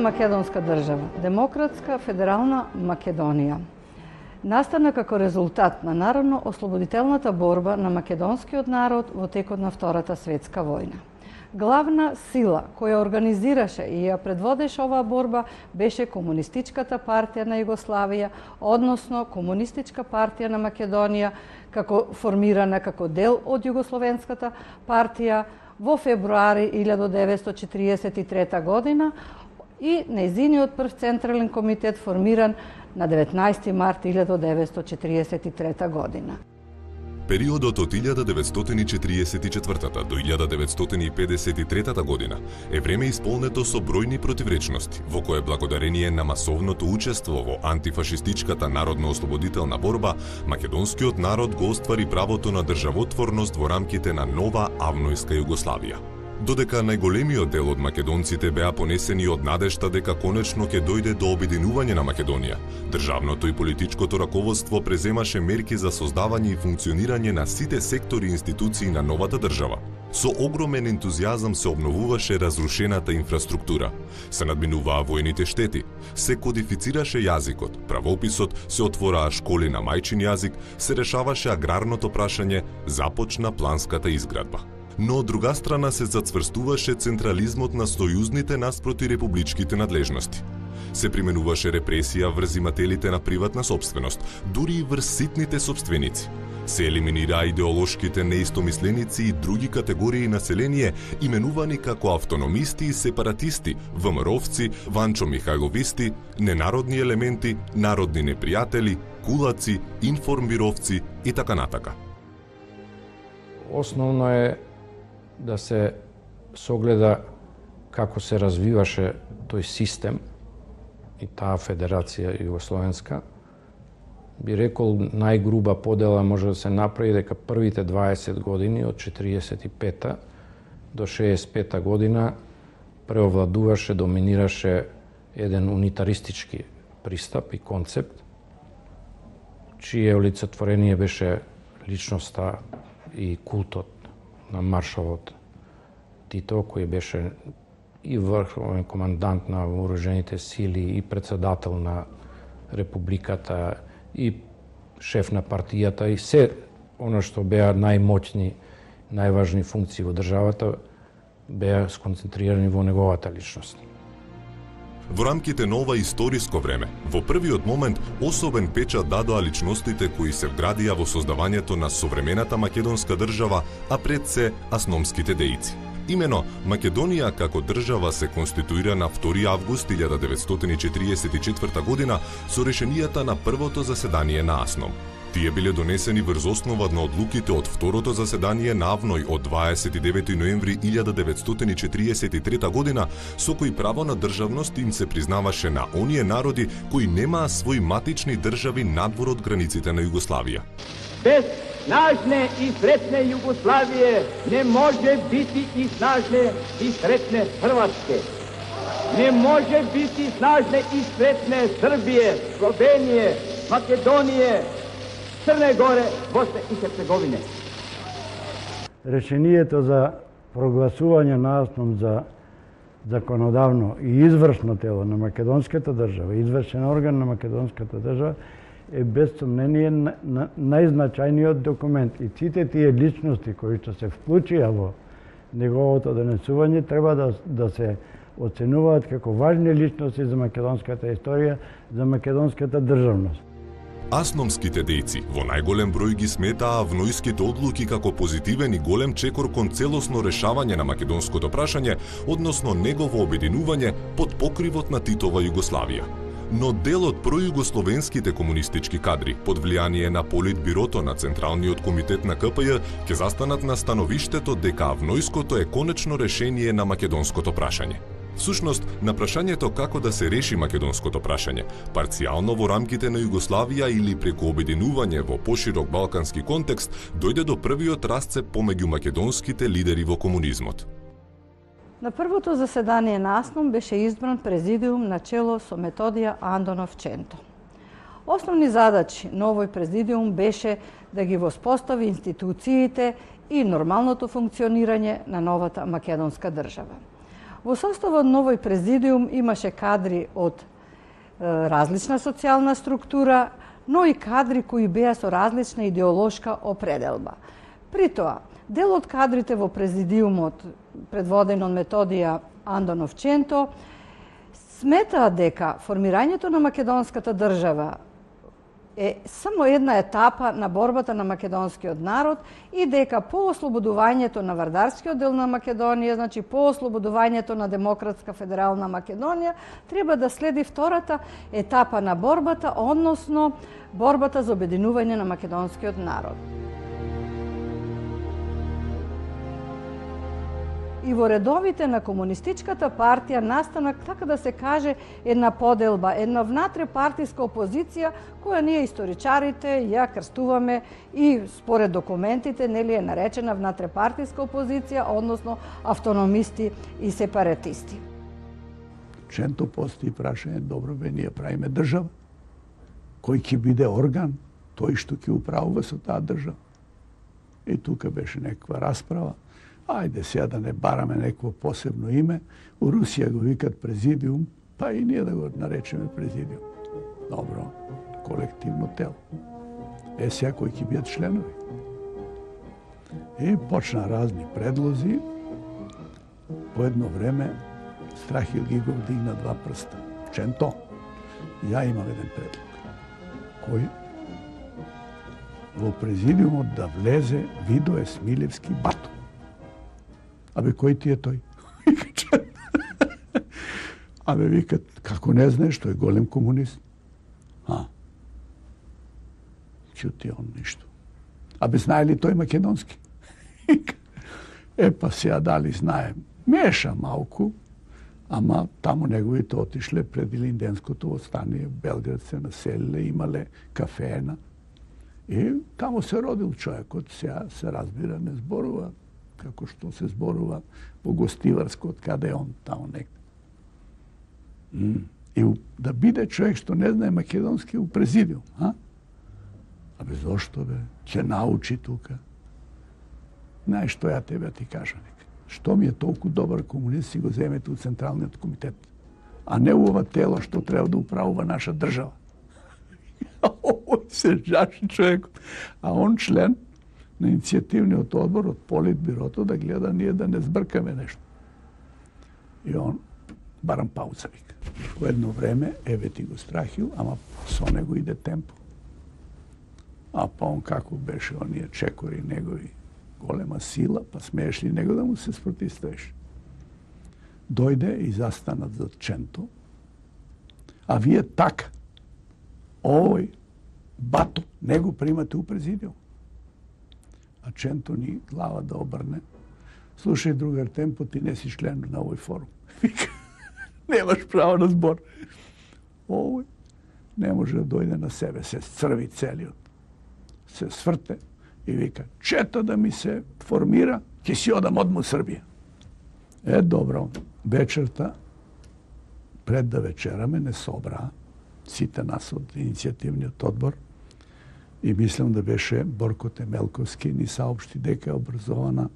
македонска држава, демократска федерална Македонија, настана како резултат на народно-ослободителната борба на македонскиот народ во текот на Втората светска војна. Главна сила која организираше и ја предводеше оваа борба беше Комунистичката партија на Југославија, односно Комунистичка партија на Македонија, формирана како дел од Југословенската партија во февруари 1943 година и нејзиниот прв централен комитет формиран на 19 март 1943 година. Периодот од 1944 до 1953 година е време исполнето со бројни противречности, во кое благодарение на масовното учество во антифашистичката народно-ослободителна борба, македонскиот народ го оствари правото на државотворност во рамките на нова авнојска Југославија. Додека најголемиот дел од македонците беа понесени од надежта дека конечно ќе дојде до обединување на Македонија, државното и политичкото раководство преземаше мерки за создавање и функционирање на сите сектори и институции на новата држава. Со огромен ентузијазам се обновуваше разрушената инфраструктура, се надминуваа војните штети, се кодифицираше јазикот, правописот, се отвораа школи на мајчин јазик, се решаваше аграрното прашање, започна планската изградба. Но од друга страна се зацврстуваше централизмот на сојузните наспроти републичките надлежности. Се применуваше репресија врз имателите на приватна собственост, дури и врз ситните собственици. Се елиминираа идеолошките неистомисленици и други категории население, именувани како автономисти и сепаратисти, ВМРО-вци, Ванчо Михајловисти, ненародни елементи, народни непријатели, кулаци, информбировци и така натака. Основно е да се согледа како се развиваше тој систем и таа федерација југословенска. Би рекол, најгруба подела може да се направи дека првите 20 години од 45 до 65 година преовладуваше, доминираше еден унитаристички пристап и концепт, чие олицетворение беше личноста и култот на маршалот Тито, кој беше и врховен командант на вооружените сили, и председател на републиката, и шеф на партијата, и се оно што беа најмоќни, најважни функции во државата, беа сконцентрирани во неговата личност. Во рамките на ова историско време, во првиот момент особен печат дадоа личностите кои се вградија во создавањето на современата македонска држава, а пред се асномските дејци. Имено, Македонија како држава се конституира на 2 август 1944 година со решенијата на првото заседание на Асном. Тие биле донесени врз основа на одлуките од второто заседание на Авној од 29 ноември 1943 година, со кои право на државност им се признаваше на оние народи кои немаа свои матични држави надвор од границите на Југославија. Без снажне и сретне Југославije не може бити и снажне и сретне Хрватske. Не може бити снажне и сретне Србije, Slovenije, Македонije, Crne Gore, Bosne и Херцеговине. Решението за прогласување на Асном за законодавно и извршно тело на македонската држава, извршен орган на македонската држава, е без сомнение најзначајниот документ. И сите тие личности кои што се вклучија во неговото донесување треба да се оценуваат како важни личности за македонската историја, за македонската државност. Асномските дејци во најголем број ги сметаа авнојските одлуки како позитивен и голем чекор кон целосно решавање на македонското прашање, односно негово обединување под покривот на Титова Југославија. Но дел од пројугословенските комунистички кадри, под влијание на Политбирото на Централниот комитет на КПЈ, ќе застанат на становиштето дека авнојското е конечно решение на македонското прашање. Всушност, на прашањето како да се реши македонското прашање, парцијално во рамките на Југославија или преку обединување во поширок балкански контекст, дојде до првиот расцеп помеѓу македонските лидери во комунизмот. На првото заседание на Асном беше избран президиум на чело со Методија Андонов Ченто. Основни задачи на овој президиум беше да ги воспостави институциите и нормалното функционирање на новата македонска држава. Во составот на овој президиум имаше кадри од различна социјална структура, но и кадри кои беа со различна идеолошка определба. При тоа, дел од кадрите во президиумот, предводен од Методија Андонов Ченто, сметаат дека формирањето на македонската држава е само една етапа на борбата на македонскиот народ и дека по ослободувањето на вардарскиот дел на Македонија, значи по ослободувањето на Демократска федерална Македонија, треба да следи втората етапа на борбата, односно борбата за обединување на македонскиот народ. И во редовите на Комунистичката партија настана, така да се каже, една поделба, една внатре партиска опозиција, која ние историчарите ја крстуваме и според документите, нели е наречена внатре партиска опозиција, односно автономисти и сепаратисти. Ченто постои прашање, добро бе, ние правиме држава, кој ќе биде орган, тој што ќе управува со таа држава. И тука беше некаква расправа. Ајде сега да не бараме некакво посебно име, у Русија го викат президиум, па и ние да го наречеме президиум. Добро, колективно тело. Сега кои ќе бидат членови. И почна разни предлози. По едно време Страхил Гигов дигна два прста. Ченто, ја имам еден предлог. Кој? Во президиумот да влезе Видое Смилевски Бато. Абе, кој ти е тој? Абе, викат, како не знаеш, тој е голем комунист. Чути он ништо. Абе, знае ли тој македонски? Па сега дали знае. Меша малку, ама таму неговите отишле пред Илинденското восстание, Белград се населиле, имале кафеена. И таму се родил човекот, сега се разбира, не зборува како што се зборува во Гостиварско, од каде е он, таму некде. И да биде човек што не знае македонски у президиум, Абе, зошто бе? Ќе научи тука. Знаеш што ја тебе ти кажам, што ми е толку добар комунист, си го земете у Централниот комитет, а не у ова тело што треба да управува наша држава. Овој се жаши човекот. А он член на иницијативниот одбор од Политбирото да гледа ние да не збркаме нешто. И он барам пауза вика. По едно време, еве ти го Страхил, ама со него иде темпо. А па он како беше оние чекори негови, голема сила, па смееш ли него да му се спротивставиш? Дојде и застанат за Ченто, а вие така, овој Бато, него примате у президиум. А Ченто ни глава да обрне. Слушај, другар, темпо, ти не си член на овој форум. Немаш право на збор. Овој не може да дојде на себе, се црви целиот. Се сврте и вика, чета да ми се формира, ќе си одам одма Србија. Добро, вечерта, пред да вечераме, не собра сите нас од иницијативниот одбор и мислам да беше Борко Темелковски ни саопшти дека е образована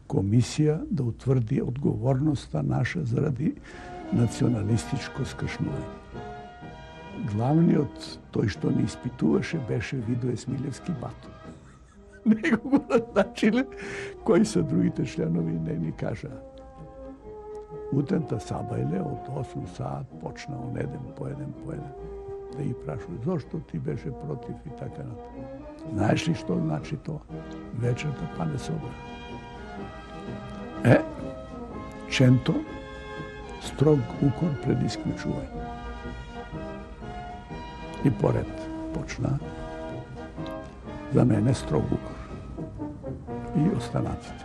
комисија да утврди одговорноста наша заради националистичко скршнување. Главниот, тој што ни испитуваше, беше Видое Смилевски Бато. Него го назначиле, кои се другите членови не ни кажаа. Утента сабајле од 8 саат почна он еден по еден. Да ги прашува, зошто ти беше против и така натаму. Знаеш ли што значи тоа? Вечерта па не собра. Ченто, строг укор пред исклучување. И поред почна за мене строг укор. И останатите.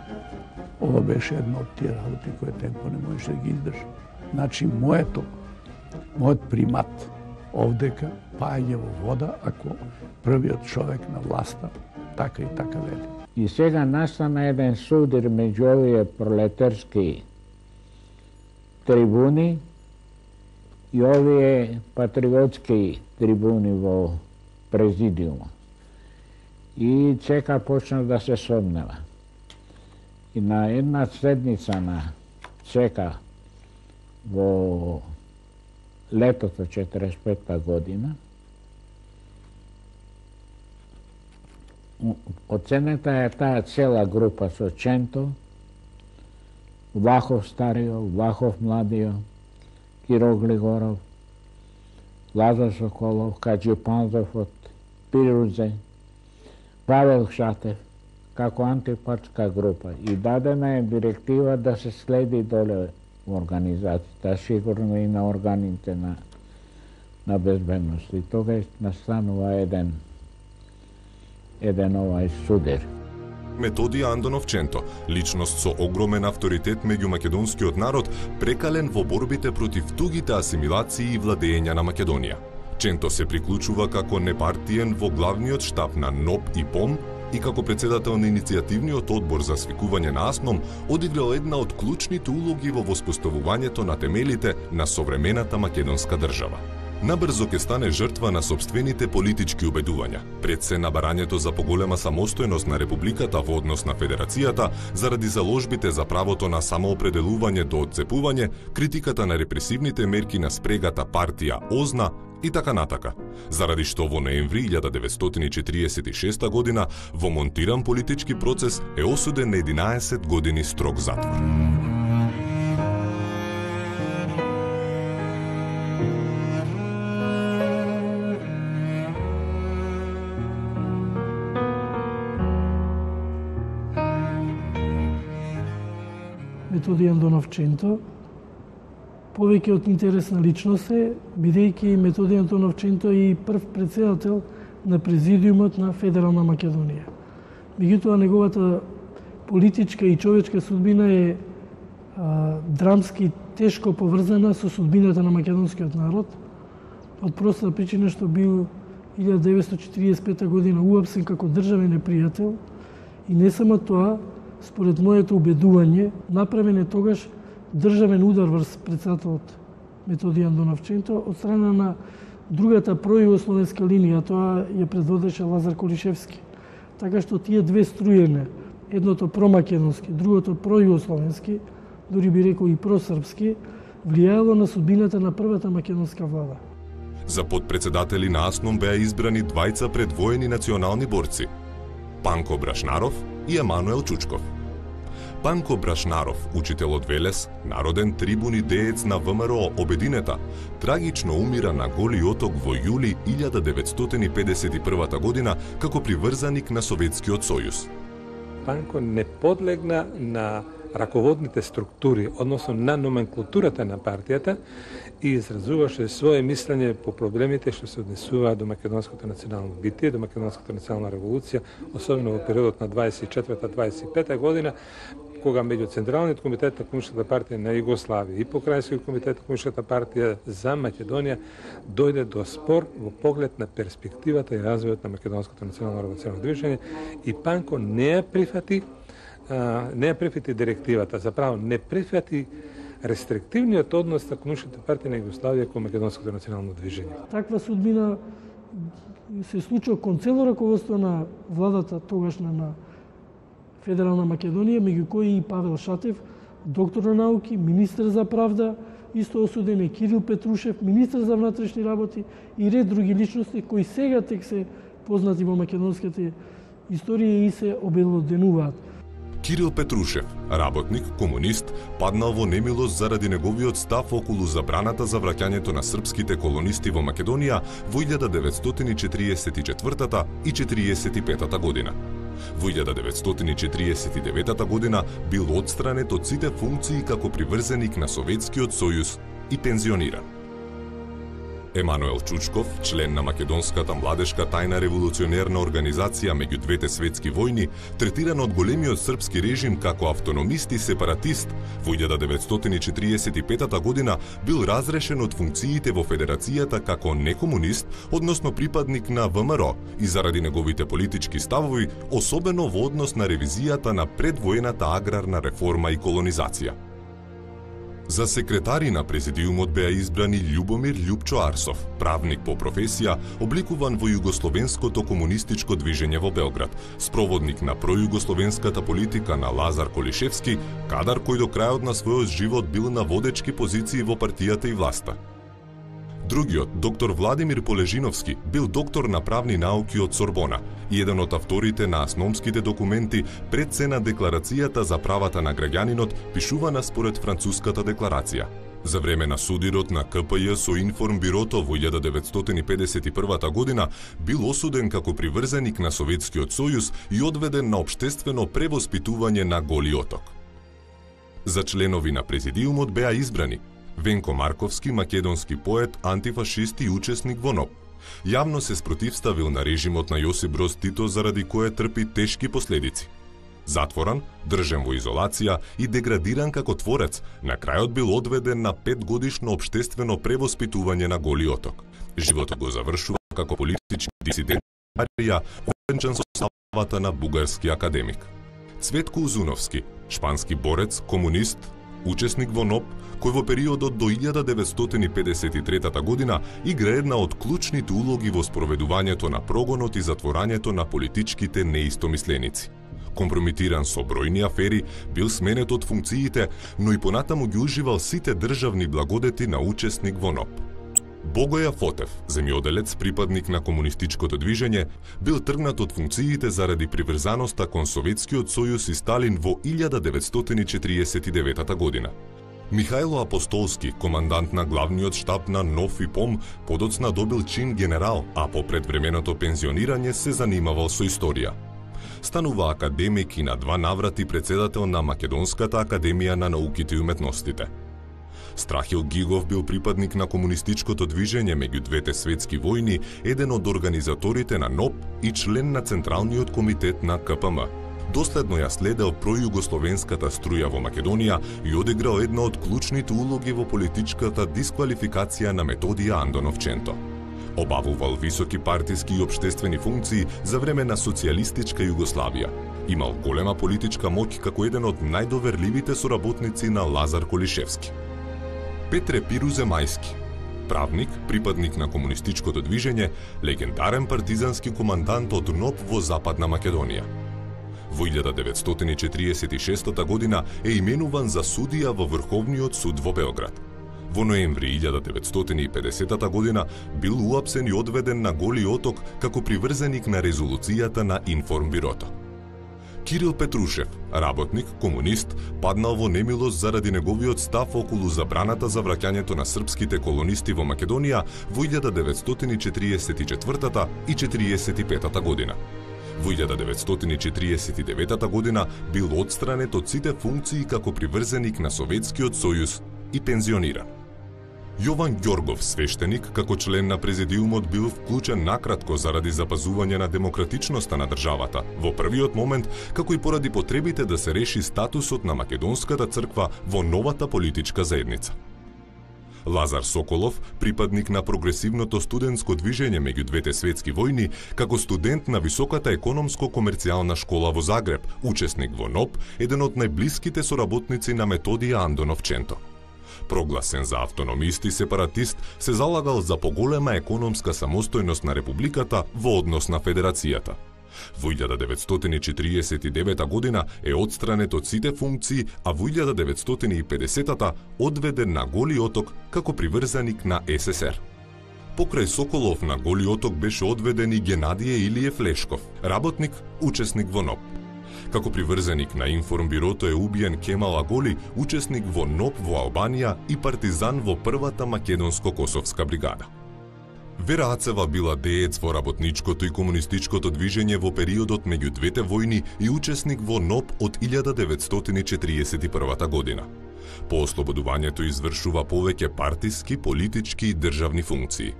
Ова беше една од тие работи која темпо не можеше да ги издржи. Значи, мојот примат овдека паѓа во вода ако првиот човек на власта така и така вели. И сега настана еден судир меѓу овие пролетарски трибуни и овие патриотски трибуни во президиумот. И ЦК почна да се сомнева. И на една седница на ЦК во летото 45 година. Оценета е таа цела група со Ченто, Влахов Старио, Влахов Младио, Киро Глигоров, Лазар Соколов, Каджи Панзов од Пирузе, Павел Шатев, како антипартска група. И дадена е директива да се следи доле во организацијата, сигурно и на органите на безбедност. И тогаш настанува еден овај судер. Методија Андонов Ченто, личност со огромен авторитет меѓу македонскиот народ, прекален во борбите против тугите асимилации и владење на Македонија. Ченто се приклучува како непартиен во главниот штаб на НОП и ПОМ и како председател на иницијативниот одбор за свикување на АСНОМ, одиграл една од клучните улоги во воспоставувањето на темелите на современата македонска држава. Набрзо ќе стане жртва на сопствените политички убедувања, пред се на барањето за поголема самостојност на Републиката во однос на Федерацијата, заради заложбите за правото на самоопределување до одцепување, критиката на репресивните мерки на спрегата партија ОЗНА и така натака, заради што во ноември 1946 година во монтиран политички процес е осуден на 11 години строг затвор. Методи Андонов Ченто, повеќе од интересна личност е, бидејќи Методи Андонов Ченто е и прв председател на президиумот на Федерална Македонија. Меѓутоа, неговата политичка и човечка судбина е драмски тешко поврзана со судбината на македонскиот народ, од проста причина што бил 1945 година уапсен како државен непријател и не само тоа, според моето убедување, направен е тогаш државен удар врз председателот Методи Андонов Ченто од страна на другата пројугословенска линија, тоа ја предводеше Лазар Колишевски. Така што тие две струјене, едното промакедонски, другото пројугословенски, дури би рекол и просрпски, влијаело на судбината на првата македонска влада. За подпредседатели на АСНОМ беа избрани двајца предвоени национални борци – Панко Брашнаров и Емануел Чучков. Панко Брашнаров, учител од Велес, народен трибун и деец на ВМРО Обединета, трагично умира на Голи оток во јули 1951 година како приврзаник на Советскиот сојуз. Панко не подлегна на раководните структури, односно на номенклатурата на партијата и изразуваше свое мислење по проблемите што се однесуваат до македонското национално битие, до македонската национална револуција, особено во периодот на 24-25 година, кога меѓу Централниот комитет на Комунистичката партија на Југославија и Покрајнскиот комитет на Комунистичката партија за Македонија дојде до спор во поглед на перспективата и развојот на македонското национално револуционно движење и Панко не ја прифати директивата, заправо не прифати рестриктивниот однос на Комунистичката партија на Југославија кон македонското национално движење. Таква судбина се случува кон цело раководство на владата тогашна на Федерална Македонија, меѓу кои и Павел Шатев, доктор на науки, министер за правда, исто осуден е Кирил Петрушев, министер за внатрешни работи и ред други личности кои сега тек се познати во македонската историја и се обелоденуваат. Кирил Петрушев, работник, комунист, паднал во немилост заради неговиот став околу забраната за враќањето на српските колонисти во Македонија во 1944 и 1945 година. Во 1949 година бил отстранет од сите функции како приврзеник на Советскиот сојуз и пензиониран. Емануел Чучков, член на македонската младешка тајна револуционерна организација меѓу двете светски војни, третиран од големиот српски режим како автономист и сепаратист, во 1945 година бил разрешен од функциите во Федерацијата како некомунист, односно припадник на ВМРО, и заради неговите политички ставови, особено во однос на ревизијата на предвоената аграрна реформа и колонизација. За секретари на президиумот беа избрани Љубомир Љупчо Арсов, правник по професија, обликуван во југословенското комунистичко движење во Белград, спроводник на пројугословенската политика на Лазар Колишевски, кадар кој до крајот на својот живот бил на водечки позиции во партијата и власта. Другиот, доктор Владимир Полежиновски, бил доктор на правни науки од Сорбона и еден од авторите на основските документи пред се на Декларацијата за правата на граѓанинот, пишувана според Француската декларација. За време на судирот на КПЈ со Информбирото во 1951 година бил осуден како приврзеник на Советскиот сојуз и одведен на општествено превоспитување на Голи Оток. За членови на президиумот беа избрани Венко Марковски, македонски поет, антифашист и учесник во НОП. Јавно се спротивставил на режимот на Јосип Броз Тито, заради кое трпи тешки последици. Затворан, држен во изолација и деградиран како творец, на крајот бил одведен на 5-годишно општествено превоспитување на Голи Оток. Животот го завршува како политички дисидент, овенчан со славата на бугарски академик. Цветко Узуновски, шпански борец, комунист, учесник во НОП, кој во периодот до 1953 година игра една од клучните улоги во спроведувањето на прогонот и затворањето на политичките неистомисленици. Компромитиран со бројни афери, бил сменет од функциите, но и понатаму ги уживал сите државни благодети на учесник во НОП. Богоја Фотев, земјоделец, припадник на комунистичкото движење, бил тргнат од функциите заради приврзаноста кон Советскиот сојуз и Сталин во 1949 година. Михајло Апостолски, командант на главниот штаб на НОФ и ПОМ, подоцна добил чин генерал, а по предвременото пензионирање се занимавал со историја. Станува академик и на 2 наврати председател на Македонската академија на науките и уметностите. Страхил Гигов бил припадник на комунистичкото движење меѓу двете светски војни, еден од организаторите на НОП и член на Централниот комитет на КПМ. Доследно ја следел пројугословенската струја во Македонија и одиграл една од клучните улоги во политичката дисквалификација на Методија Андоновченто. Обавувал високи партиски и општествени функции за време на социјалистичка Југославија. Имал голема политичка моќ како еден од најдоверливите соработници на Лазар Колишевски. Петре Пирузе Мајски, правник, припадник на комунистичкото движење, легендарен партизански командант од НОП во Западна Македонија. Во 1946 година е именуван за судија во Врховниот суд во Белград. Во ноември 1950 година бил уапсен и одведен на Голи Оток како приврзеник на резолуцијата на Информбирото. Кирил Петрушев, работник, комунист, паднал во немилост заради неговиот став околу забраната за враќањето на српските колонисти во Македонија во 1944 и 1945 година. Во 1949 година бил одстранет од сите функции како приврзеник на Советскиот сојуз и пензиониран. Јован Ѓоргов, свештеник, како член на президиумот бил вклучен накратко заради запазување на демократичноста на државата, во првиот момент, како и поради потребите да се реши статусот на Македонската црква во новата политичка заедница. Лазар Соколов, припадник на прогресивното студентско движење меѓу двете светски војни, како студент на Високата економско-комерцијална школа во Загреб, учесник во НОП, еден од најблиските соработници на Методија Андоновченто. Прогласен за автономист и сепаратист, се залагал за поголема економска самостојност на републиката во однос на федерацијата. Во 1949 година е одстранет од сите функции, а во 1950 одведен на Голи Оток како приврзаник на СССР. Покрај Соколов на Голи Оток беше одведен и Генадије Илиев Лешков, работник, учесник во НОП. Како приврзаник на Информбирото е убиен Кемал Аголи, учесник во НОП во Албанија и партизан во првата македонско-косовска бригада. Вера Ацева била деец во работничкото и комунистичкото движење во периодот меѓу двете војни и учесник во НОП од 1941 година. По ослободувањето извршува повеќе партиски, политички и државни функции.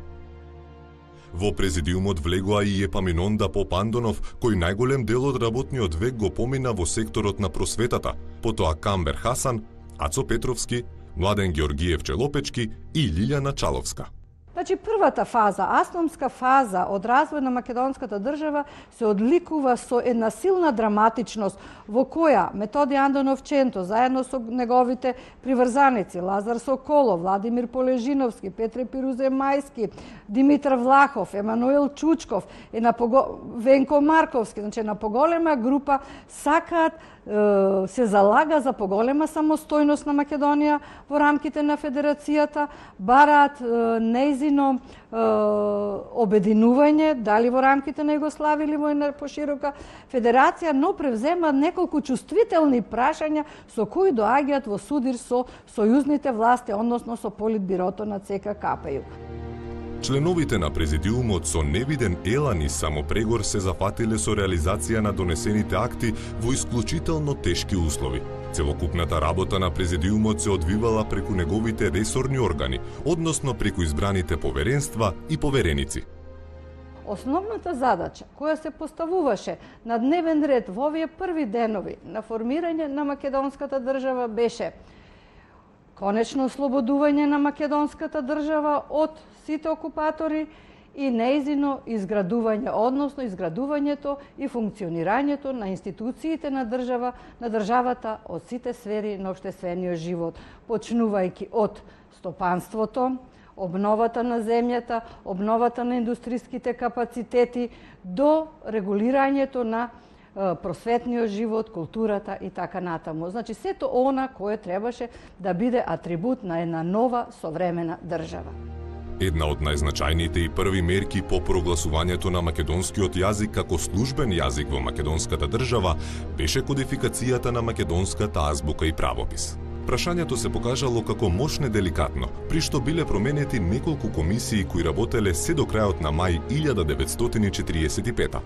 Во президиумот влегоа и Епаминонда Попандонов, кој најголем дел од работниот век го помина во секторот на просветата, потоа Камбер Хасан, Ацо Петровски, Младен Георгиев Челопечки и Лилјана Чаловска. Значи, првата фаза, асномска фаза од развој на македонската држава се одликува со една силна драматичност во која Методи Андонов Ченто, заедно со неговите приврзаници, Лазар Соколов, Владимир Полежиновски, Петре Пирузе Мајски, Димитар Влахов, Емануел Чучков, Венко Марковски, значи на поголема група сакаат се залага за поголема самостојност на Македонија во рамките на Федерацијата, бараат нејзино обединување, дали во рамките на Југославија или во една поширока федерација, но превземаат неколку чувствителни прашања со кои доаѓаат во судир со сојузните власти, односно со Политбирото на ЦК-КПЈ. Членовите на президиумот со невиден елан и самопрегор се зафатиле со реализација на донесените акти во исклучително тешки услови. Целокупната работа на президиумот се одвивала преку неговите ресорни органи, односно преку избраните поверенства и повереници. Основната задача која се поставуваше на дневен ред во овие први денови на формирање на македонската држава беше конечно ослободување на македонската држава од сите окупатори и нејзино изградување, односно изградувањето и функционирањето на институциите на државата од сите сфери на општествениот живот, почнувајќи од стопанството, обновата на земјата, обновата на индустријските капацитети, до регулирањето на просветниот живот, културата и така натаму. Значи, сето она кое требаше да биде атрибут на една нова современа држава. Една од најзначајните и први мерки по прогласувањето на македонскиот јазик како службен јазик во македонската држава беше кодификацијата на македонската азбука и правопис. Прашањето се покажало како мошне деликатно, при што биле променети неколку комисии кои работеле се до крајот на мај 1945.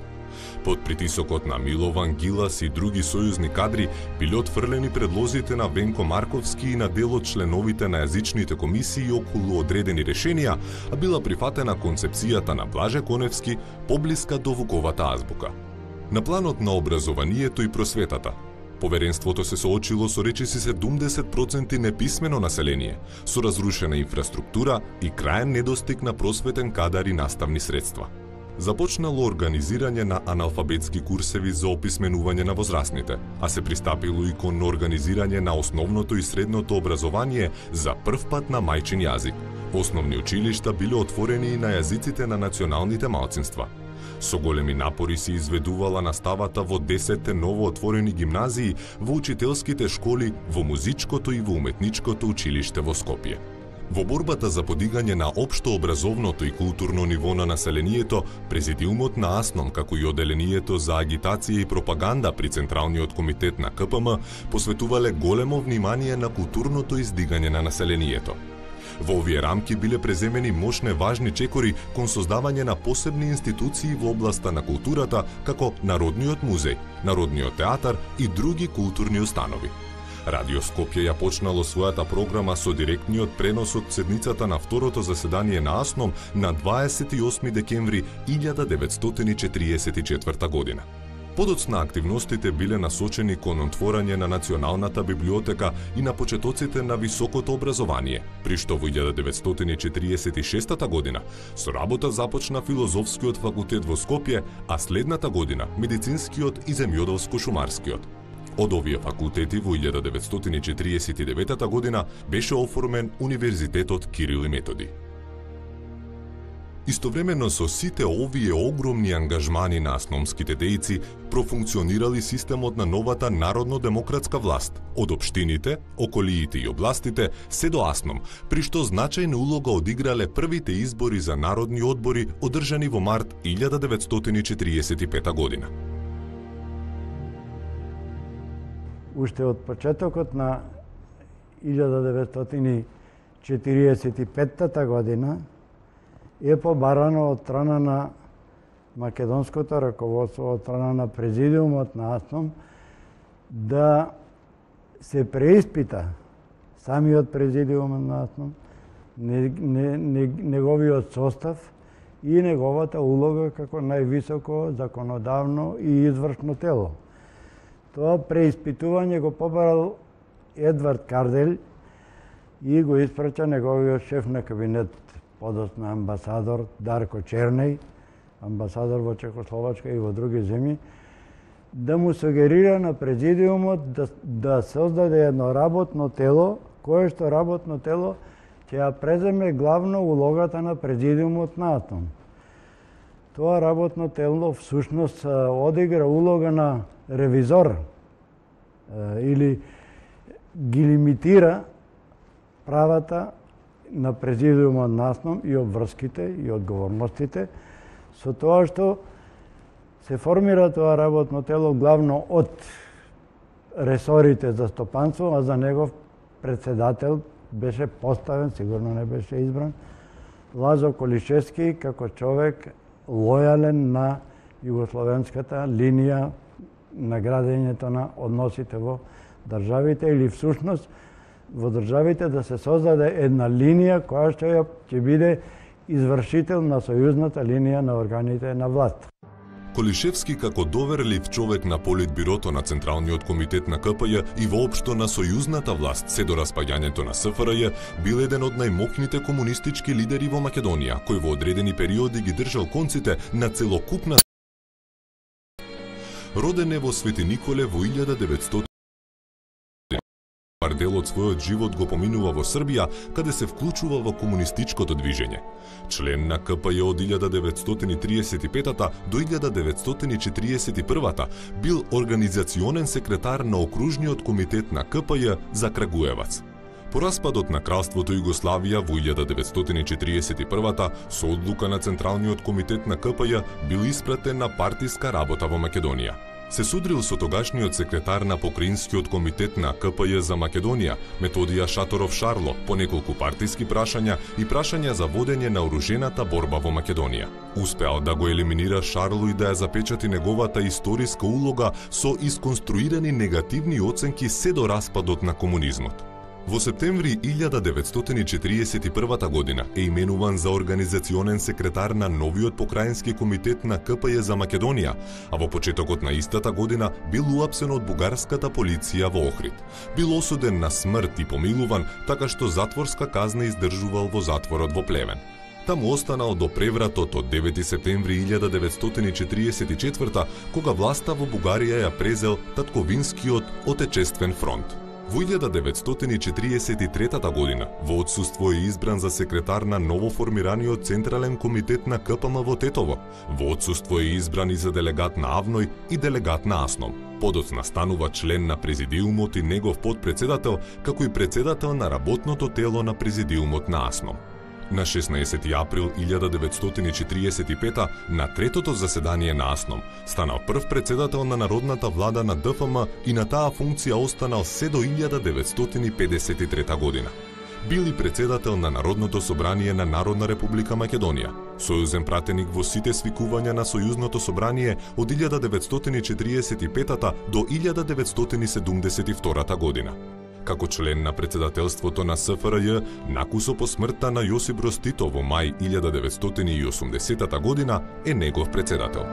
Под притисокот на Милован, Гилас и други сојузни кадри биле отфрлени предлозите на Венко Марковски и на дел од членовите на јазичните комисии околу одредени решенија, а била прифатена концепцијата на Блаже Коневски поблиска до Вуковата азбука. На планот на образованието и просветата, поверенството се соочило со речиси 70% неписмено население, со разрушена инфраструктура и краен недостиг на просветен кадар и наставни средства. Започнало организирање на аналфабетски курсеви за описменување на возрастните, а се пристапило и кон организирање на основното и средното образование за прв пат на мајчин јазик. Основни училишта биле отворени и на јазиците на националните малцинства. Со големи напори се изведувала наставата во 10 новоотворени гимназии, во учителските школи, во музичкото и во уметничкото училиште во Скопје. Во борбата за подигање на општо образовното и културно ниво на населението, Президиумот на АСНОМ, како и Оделението за агитација и пропаганда при Централниот комитет на КПМ, посветувале големо внимание на културното издигање на населението. Во овие рамки биле преземени мощне важни чекори кон создавање на посебни институции во областа на културата, како Народниот музеј, Народниот театар и други културни установи. Радио Скопје ја почнало својата програма со директниот пренос од седницата на второто заседание на АСНОМ на 28 декември 1944 година. Подоцна активностите биле насочени кон отворање на Националната библиотека и на почетоците на високото образование, при што во 1946 година со работа започна Филозофскиот факултет во Скопје, а следната година Медицинскиот и Земјоделско-шумарскиот. Од овие факултети во 1949 година беше оформен Универзитетот Кирил и Методи. Истовремено со сите овие огромни ангажмани на асномските дејци, профункционирали системот на новата народно-демократска власт, од општините, околиите и областите, се до АСНОМ, при што значајна улога одиграле првите избори за народни одбори одржани во март 1945 година. Уште од почетокот на 1945 година е побарано од страна на македонското раководство, од страна на Президиумот на АСНОМ, да се преиспита самиот Президиум на АСНОМ, неговиот состав и неговата улога како највисоко законодавно и извршно тело. Тоа преиспитување го побарал Едвард Кардель и го испрача неговиот шеф на кабинет подоцна амбасадор Дарко Чернеј, амбасадор во Чехословачка и во други земји, да му сугерира на президиумот да создаде едно работно тело, кое што работно тело ќе ја преземе главно улогата на президиумот на АТОМ. Тоа работно тело всушност одигра улога на ревизор или ги лимитира правата на президиумот на АТОМ и обврските и одговорностите со тоа што се формира тоа работно тело главно од ресорите за стопанство, а за негов председател беше поставен, сигурно не беше избран, Лазо Колишевски како човек лојален на југословенската линија на градењето на односите во државите или всушност во државите да се создаде една линија која што ќе биде извршител на сојузната линија на органите на власт. Колишевски како доверлив човек на Политбирото на Централниот комитет на КПЈ и воопшто на сојузната власт се до распаѓањето на СФРЈ бил еден од најмокните комунистички лидери во Македонија, кој во одредени периоди ги држал конците на целокупна. Роден е во Свети Николе во 1900 дел од својот живот го поминува во Србија, каде се вклучува во комунистичкото движење. Член на КПЈ од 1935 до 1941 бил организационен секретар на окружниот комитет на КПЈ за Крагуевац. По распадот на Кралството Југославија во 1941 со одлука на Централниот комитет на КПЈ бил испратен на партиска работа во Македонија. Се судрил со тогашниот секретар на Покраинскиот комитет на КПЈ за Македонија, Методија Шаторов Шарло, по неколку партиски прашања и прашања за водење на оружената борба во Македонија. Успеал да го елиминира Шарло и да ја запечати неговата историска улога со исконструирани негативни оценки се до распадот на комунизмот. Во септември 1941 година е именуван за организационен секретар на новиот покраински комитет на КПЈ за Македонија, а во почетокот на истата година бил уапсен од бугарската полиција во Охрид. Бил осуден на смрт и помилуван, така што затворска казна издржувал во затворот во Плевен. Таму останал до превратот од 9 септември 1944, кога власта во Бугарија ја презел татковинскиот Отечествен фронт. Во 1943 година, во отсуство е избран за секретар на новоформираниот Централен комитет на КПМ во Тетово. Во отсуство е избран и за делегат на АВНОј и делегат на АСНОМ. Подоцна станува член на президиумот и негов подпредседател, како и председател на работното тело на президиумот на АСНОМ. На 16 април 1945 на третото заседание на АСНОМ станал прв председател на Народната влада на ДФМ и на таа функција останал се до 1953 година. Бил и председател на Народното собрание на Народна република Македонија, сојузен пратеник во сите свикувања на Сојузното собрание од 1945 до 1972 година. Како член на председателството на СФРЈ, накусо по смртта на Јосип Броз Тито во мај 1980 година е негов председател.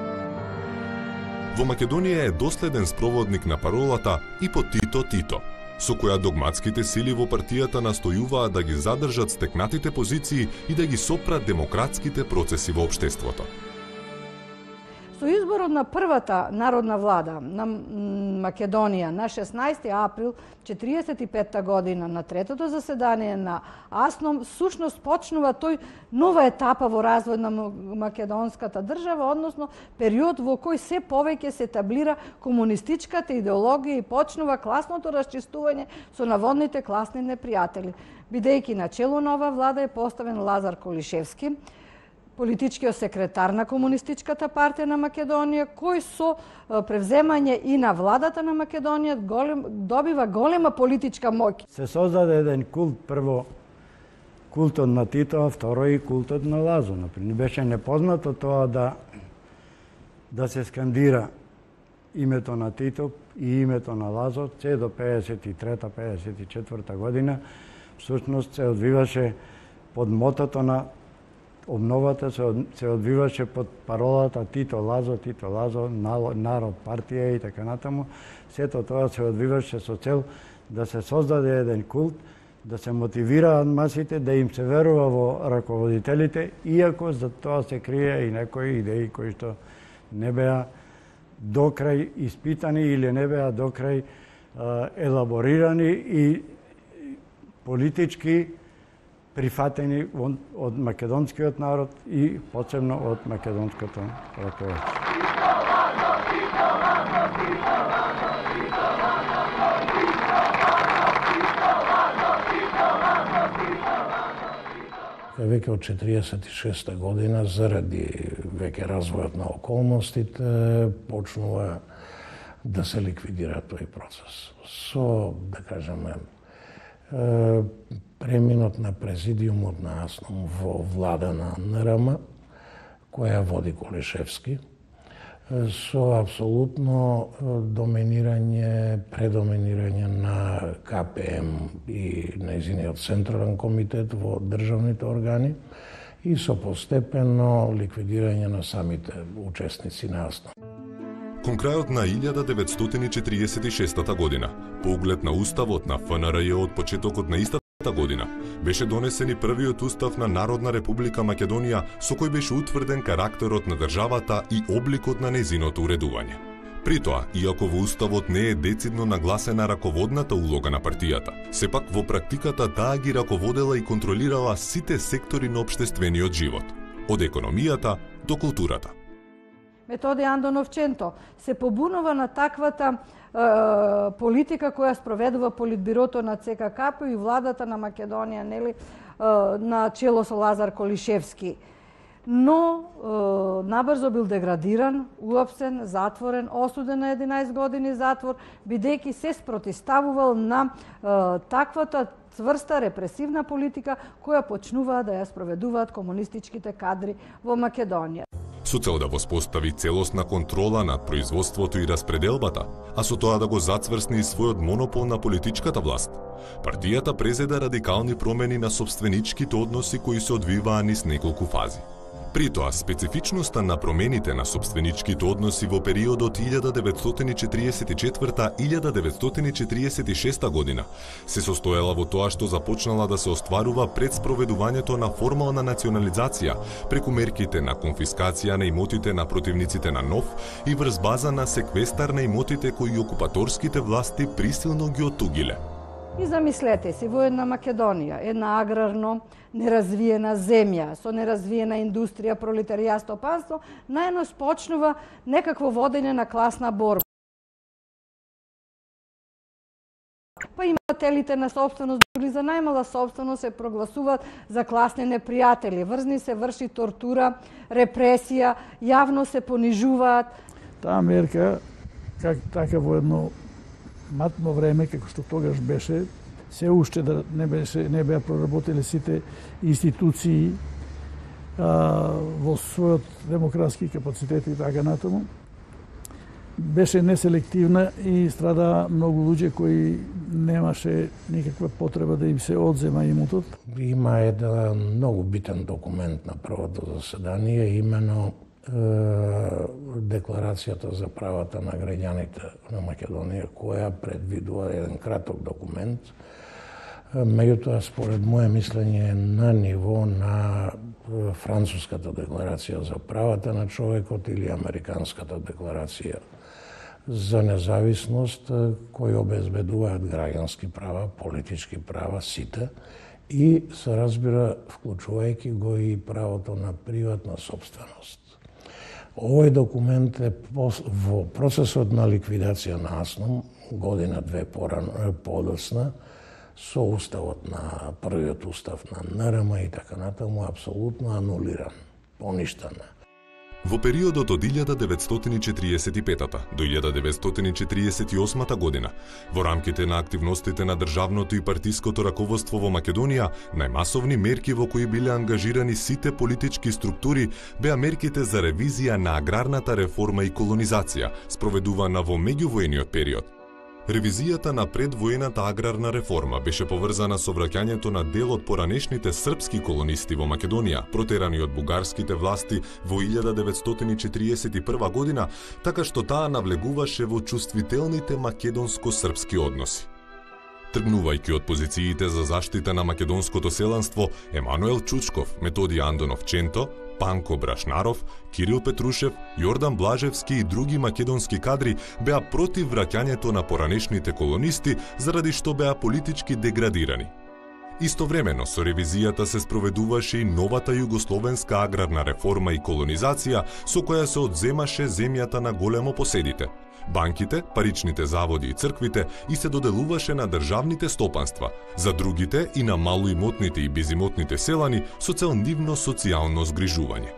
Во Македонија е доследен спроводник на паролата „И по Тито Тито“, со која догматските сили во партијата настојуваат да ги задржат стекнатите позиции и да ги сопрат демократските процеси во општеството. Со изборот на првата народна влада на Македонија на 16 април 1945 година на третото заседание на АСНОМ, сушност почнува тој нова етапа во развој на македонската држава, односно период во кој се повеќе се таблира комунистичката идеологија и почнува класното расчистување со наводните класни непријатели. Бидејќи на чело на ова влада е поставен Лазар Колишевски, политичкиот секретар на Комунистичката партија на Македонија, кој со превземање и на владата на Македонија добива голема политичка моќ. Се создаде еден култ, прво култот на Тито, а второ и култот на Лазо. Не беше непознато тоа да се скандира името на Тито и името на Лазо, се до 53-54 година, всушност се одвиваше под мотото на обновата, се одвиваше под паролата Тито Лазо, народ, партија и така натаму. Сето тоа се одвиваше со цел да се создаде еден култ да се мотивираат масите, да им се верува во раководителите, иако за тоа се крие и некои идеи кои што не беа докрај испитани или не беа докрај елаборирани и политички прифатени од македонскиот народ и посебно од македонското раководство. Веќе од 46 година, заради веќе развојот на околностите, почнува да се ликвидира тој процес. Со, да кажеме, преминот на президиумот на АСНОМ во влада на НРМ, која води Колишевски, со апсолутно предоминирање на КПМ и нејзиниот централен комитет во државните органи и со постепено ликвидирање на самите учесници на АСНОМ. Кон крајот на 1946 година, по углед на уставот на ФНРЈ од почетокот на истата година, беше донесен и првиот устав на Народна република Македонија, со кој беше утврден карактерот на државата и обликот на нејзиното уредување. При тоа, иако во уставот не е децидно нагласена раководната улога на партијата, сепак во практиката таа ги раководела и контролирала сите сектори на општествениот живот, од економијата до културата. Методи Андонов-Ченто се побунува на таквата политика која спроведува Политбирото на ЦККП и владата на Македонија, нели, на чело со Лазар Колишевски. Но набрзо бил деградиран, уапсен, затворен, осуден на 11 години затвор, бидејќи се спротиставувал на таквата цврста репресивна политика која почнуваа да ја спроведуваат комунистичките кадри во Македонија. Со цел да воспостави целосна контрола над производството и распределбата, а со тоа да го зацврсни и својот монопол на политичката власт, партијата презеда радикални промени на собственичките односи кои се одвиваа низ неколку фази. При тоа, специфичноста на промените на собственичките односи во периодот 1944-1946 година се состоела во тоа што започнала да се остварува пред спроведувањето на формална национализација преку мерките на конфискација на имотите на противниците на НОВ и врз база на секвестар на имотите кои окупаторските власти присилно ги оттугиле. И замислете си, во една Македонија, една аграрно неразвиена земја, со неразвиена индустрија, пролетаријат, стопанство, најнос почнува некакво водење на класна борба. Па имателите на собственост, дури за најмала собственост, се прогласуваат за класни непријатели. Врзни се врши тортура, репресија, јавно се понижуваат. Таа мерка, така во едно матно време, како што тогаш беше, се уште да не беа проработили сите институции во својот демократски капацитет и така натаму, беше неселективна и страда многу луѓе кои немаше никаква потреба да им се одзема имотот. Има еден многу битен документ на првото заседание, имено Декларацијата за правата на граѓаните на Македонија, која предвидува еден краток документ. Меѓутоа, според моје мислење, на ниво на Француската декларација за правата на човекот или Американската декларација за независност, кои обезбедуваат граѓански права, политички права, сите, и се разбира, вклучувајќи го и правото на приватна собственост. Овој документ е во процесот на ликвидација на АСНОМ, година-две подоцна, со уставот на првиот устав на НРМ и така натаму, апсолутно анулиран, поништен. Во периодот од 1945 до 1948 година, во рамките на активностите на државното и партиското раководство во Македонија, најмасовни мерки во кои биле ангажирани сите политички структури беа мерките за ревизија на аграрната реформа и колонизација, спроведувана во меѓувојниот период. Ревизијата на предвоената аграрна реформа беше поврзана со враќањето на дел од поранешните српски колонисти во Македонија, протерани од бугарските власти во 1941 година, така што таа навлегуваше во чувствителните македонско-српски односи. Тргнувајќи од позициите за заштита на македонското селанство, Емануел Чучков, Методи Андонов Ченто, Панко Брашнаров, Кирил Петрушев, Јордан Блажевски и други македонски кадри беа против враќањето на поранешните колонисти заради што беа политички деградирани. Истовремено со ревизијата се спроведуваше и новата југословенска аграрна реформа и колонизација со која се одземаше земјата на големопоседите, банките, паричните заводи и црквите и се доделуваше на државните стопанства, за другите и на малоимотните и безимотните селани со цел нивно социјално згрижување.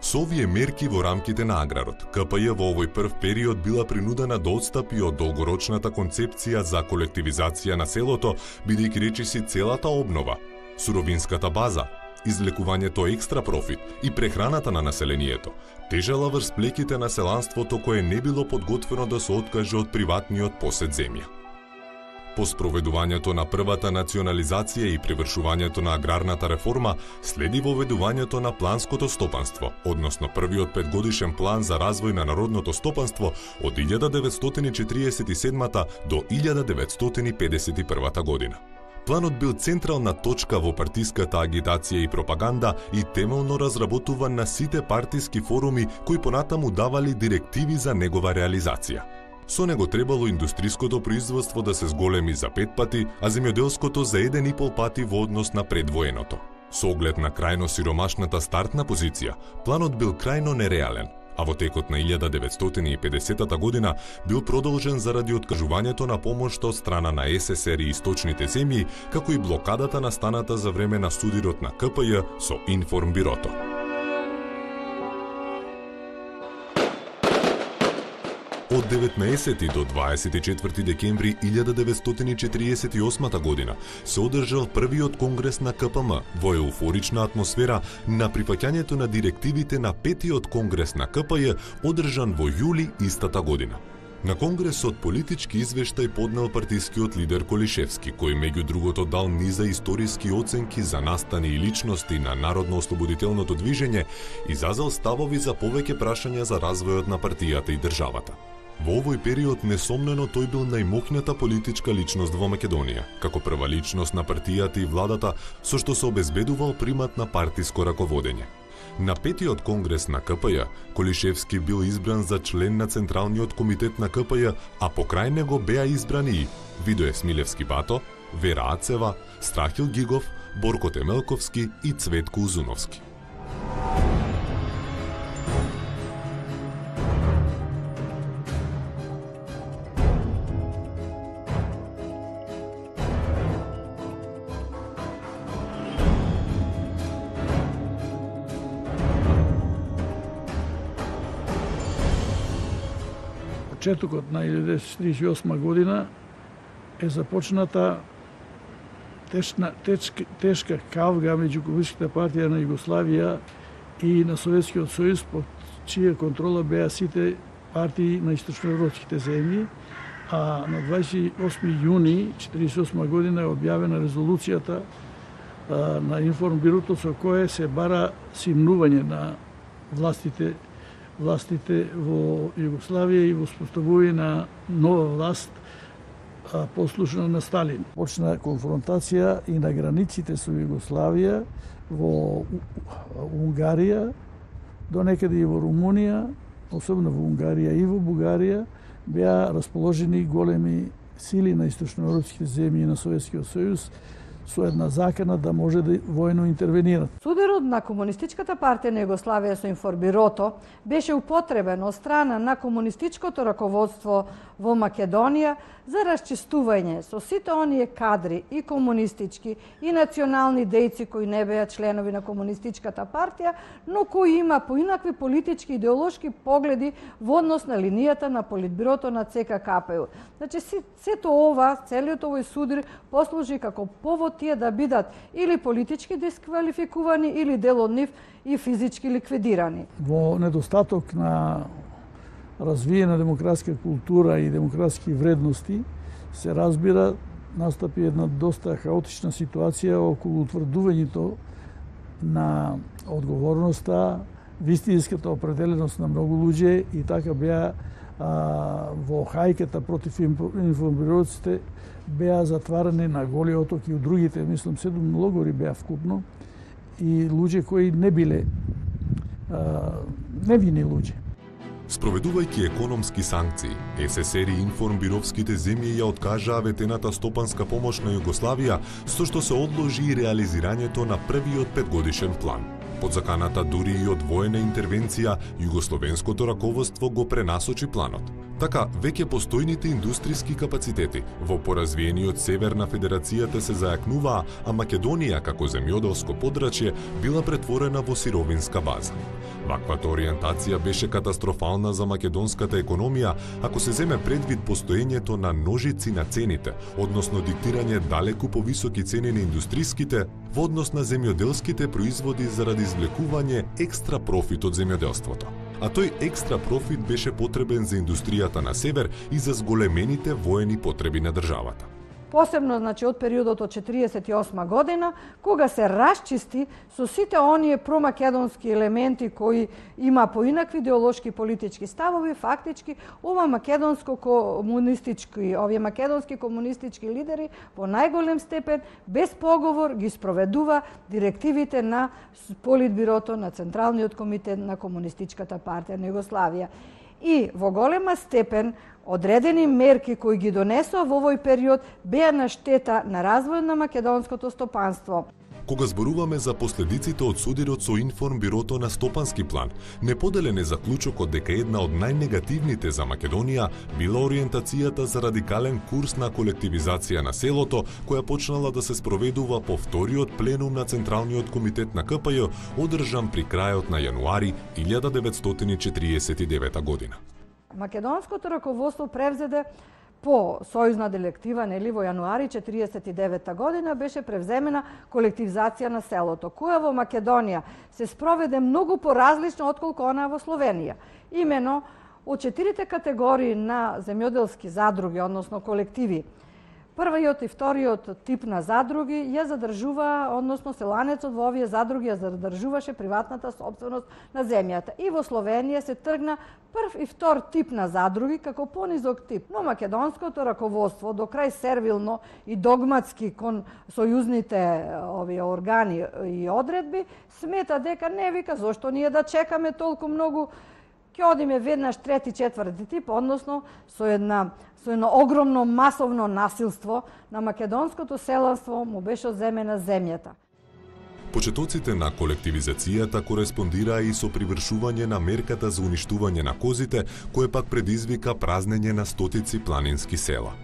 Со овие мерки во рамките на аграрот, КПЈ во овој прв период била принудена да отстапи од долгорочната концепција за колективизација на селото, бидејќи речиси целата обнова, суровинската база, излекувањето екстра профит и прехраната на населението тежела врз плеките на селанството кое не било подготвено да се откаже од приватниот посед земја. По спроведувањето на првата национализација и привршувањето на аграрната реформа, следи воведувањето на планското стопанство, односно првиот 5-годишен план за развој на народното стопанство од 1947 до 1951 година. Планот бил централна точка во партиската агитација и пропаганда и темелно разработуван на сите партиски форуми кои понатаму давали директиви за негова реализација. Со него требало индустриското производство да се зголеми за 5 пати, а земјоделското за 1,5 пати во однос на предвоеното. Со оглед на крајно сиромашната стартна позиција, планот бил крајно нереален, а во текот на 1950 година бил продолжен заради откажувањето на помош од страна на СССР и источните земји, како и блокадата настаната за време на судирот на КПЈ со Информбирото. Од 19 до 24 декември 1948 година се одржал првиот конгрес на КПМ во еуфорична атмосфера на прифаќањето на директивите на петиот конгрес на КПЈ одржан во јули истата година. На конгресот политички извештај поднел партискиот лидер Колишевски, кој меѓу другото дал низа историски оценки за настани и личности на народно-ослободителното движење, изазел ставови за повеќе прашања за развојот на партијата и државата. Во овој период несомнено тој бил најмоќната политичка личност во Македонија, како прва личност на партијата и владата, со што се обезбедувал примат на партиско раководење. На петиот конгрес на КПЈ, Колишевски бил избран за член на Централниот комитет на КПЈ, а покрај него беа избрани и Видој Смилевски Бато, Вера Ацева, Страхил Гигов, Борко Темелковски и Цветко Узуновски. Почетокот на 1948 година е започната тешка кавга меѓу Комунистичката партија на Југославија и на Советскиот сојуз, под чија контрола беа сите партии на источноевропските земји, а на 28 јуни 1948 година е објавена резолуцијата на Информбирото со кое се бара симнување на властите во Југославија и воспоставување на нова власт послушна на Сталин. Почна конфронтација и на границите со Југославија, во Унгарија, до некаде и во Румунија, особено во Унгарија и во Бугарија, беа расположени големи сили на источноевропските земји на Советскиот сојуз со една закана да може да војно интервенират. Сударот на Комунистичката партија на Југославија со Информбирото беше употребен од страна на комунистичкото раководство во Македонија за расчистување со сите оние кадри и комунистички и национални дејци кои не беа членови на Комунистичката партија, но кои има поинакви политички и идеолошки погледи во однос на линијата на Политбирото на ЦК-КПУ. Значи, сето ова, целиот овој судир послужи како повод тие да бидат или политички дисквалификувани, или дел од нив и физички ликвидирани. Во недостаток на развиена демократска култура и демократски вредности, се разбира, настапи една доста хаотична ситуација околу утврдувањето на одговорноста, вистинската определеност на многу луѓе и така беа во хајката против информбироците беа затварани на Голиот оток и у другите, мислам, 7 логори беа вкупно, и луѓе кои не биле невини луѓе. Спроведувајќи економски санкции, СССР и информбировските земји ја откажаа ветената стопанска помош на Југославија, со што се одложи и реализирањето на првиот 5-годишен план. Под заканата дури и од воена интервенција, југословенското раководство го пренасочи планот. Така, веќе постојните индустријски капацитети во поразвиениот север на Федерацијата се зајакнуваа, а Македонија како земјоделско подрачје била претворена во сировинска база. Ваквата ориентација беше катастрофална за македонската економија, ако се земе предвид постоењето на ножици на цените, односно диктирање далеку повисоки цени на индустријските во однос на земјоделските производи заради извлекување екстра профит од земјоделството. А тој екстра профит беше потребен за индустријата на север и за зголемените воени потреби на државата. Посебно, значи, од периодот од 1948 година, кога се расчисти со сите оние промакедонски елементи кои има поинакви идеолошки политички ставови, фактички, овие македонски комунистички лидери во најголем степен, без поговор, ги спроведува директивите на Политбирото на Централниот комитет на Комунистичката партија на Југославија. И во голема степен одредени мерки кои ги донесоа во овој период беа на штета на развојот на македонското стопанство. Кога зборуваме за последиците од судирот со информбирото на стопански план, неподелен е заклучокот дека една од најнегативните за Македонија била ориентацијата за радикален курс на колективизација на селото, која почнала да се спроведува по вториот пленум на Централниот комитет на КПЈ, одржан при крајот на јануари 1949 година. Македонското раководство превзеде по сојузна директива, нели, во јануари 1949 година беше превземена колективизација на селото, која во Македонија се спроведе многу поразлично отколку она во Словенија. Имено, од 4 категории на земјоделски задруги, односно колективи, првиот и вториот тип на задруги ја задржува, односно селанецот во овие задруги ја задржуваше приватната сопственост на земјата. И во Словенија се тргна прв и втор тип на задруги како понизок тип. Но македонското раководство, до крај сервилно и догматски кон сојузните овие органи и одредби, смета дека не, вика, зошто ние да чекаме толку многу, ќе одиме веднаш трети, четврти тип, односно со едно огромно масовно насилство на македонското селанство му беше одземена земјата. Почетоците на колективизацијата кореспондираа и со привршување на мерката за уништување на козите, кое пак предизвика празнење на стотици планински села.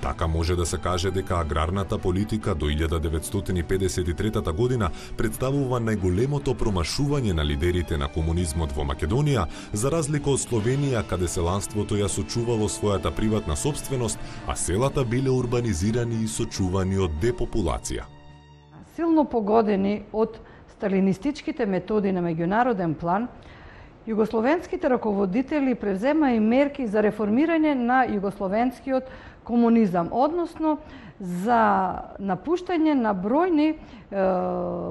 Така може да се каже дека аграрната политика до 1953 година представува најголемото промашување на лидерите на комунизмот во Македонија, за разлика од Словенија, каде селанството ја сочувало својата приватна сопственост, а селата биле урбанизирани и сочувани од депопулација. Силно погодени од сталинистичките методи на меѓународен план, југословенските раководители превзема и мерки за реформирање на југословенскиот комунизам, односно за напуштање на бројни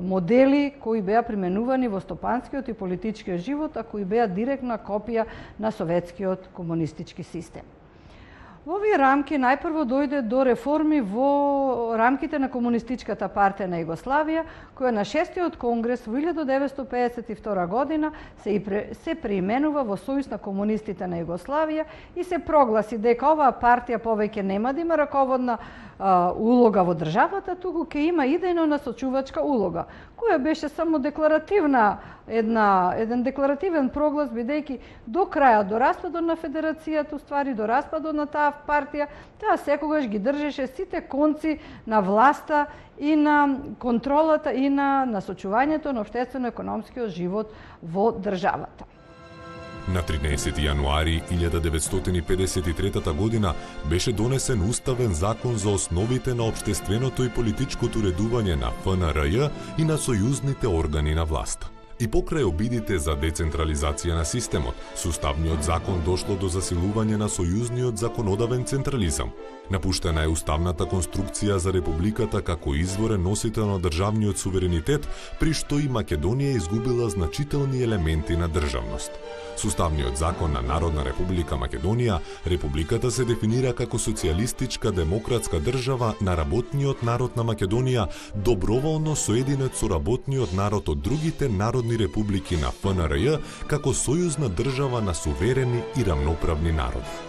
модели кои беа применувани во стопанскиот и политичкиот живот, а кои беа директна копија на советскиот комунистички систем. Во овие рамки најпрво дојде до реформи во рамките на Комунистичката партија на Југославија, која на 6-тиот конгрес во 1952 година се преименува во Сојуз на комунистите на Југославија и се прогласи дека оваа партија повеќе нема да има раководна улога во државата, туку ќе има идејно насочувачка улога, која беше само декларативна, еден декларативен проглас, бидејќи до крајот, до распадот на Федерацијата, уствари до распадот на таа партија, таа секогаш ги држеше сите конци на власта и на контролата и на насочувањето на општествено-економскиот живот во државата. На 13 јануари 1953 година беше донесен уставен закон за основите на општественото и политичкото уредување на ФНРЈ и на сојузните органи на власт. И покрај обидите за децентрализација на системот, со уставниот закон дошло до засилување на сојузниот законодавен централизам. Напуштена е уставната конструкција за републиката како изворен носител на државниот суверенитет, при што и Македонија изгубила значителни елементи на државност. Со уставниот закон на Народна република Македонија, републиката се дефинира како социјалистичка демократска држава на работниот народ на Македонија, доброволно соединет со работниот народ од другите народни републики на ФНРЈ како сојузна држава на суверени и рамноправни народи.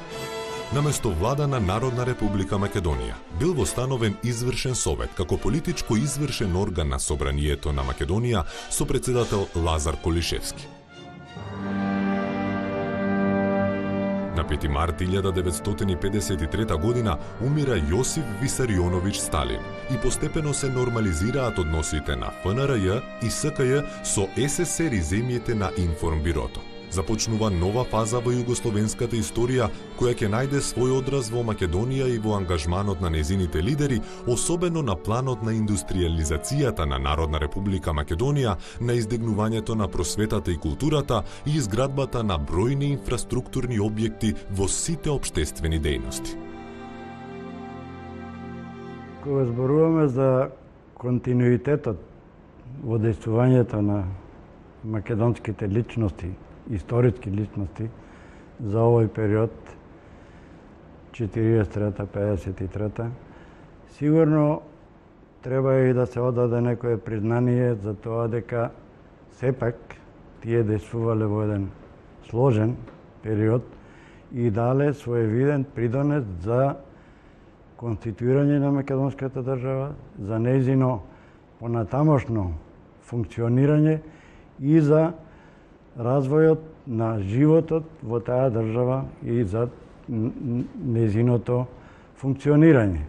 Наместо влада на Народна република Македонија бил востановен извршен совет како политичко извршен орган на собранието на Македонија со председател Лазар Колишевски. На 5 март 1953 година умира Јосиф Висарионович Сталин и постепено се нормализираат односите на ФНРЈ и СКЈ со СССР и земјите на Информбирото. Започнува нова фаза во југословенската историја, која ќе најде свој одраз во Македонија и во ангажманот на незините лидери, особено на планот на индустриализацијата на Народна република Македонија, на издигнувањето на просветата и културата и изградбата на бројни инфраструктурни објекти во сите општествени дејности. Кога зборуваме за континуитетот во дејствувањето на македонските личности, историски личности за овој период 43-53, сигурно треба и да се одаде некое признание за тоа дека сепак тие действувале во еден сложен период и дале своевиден придонес за конституирање на македонската држава, за нејзино понатамошно функционирање и за развојот на животот во таа држава и за нејзиното функционирање.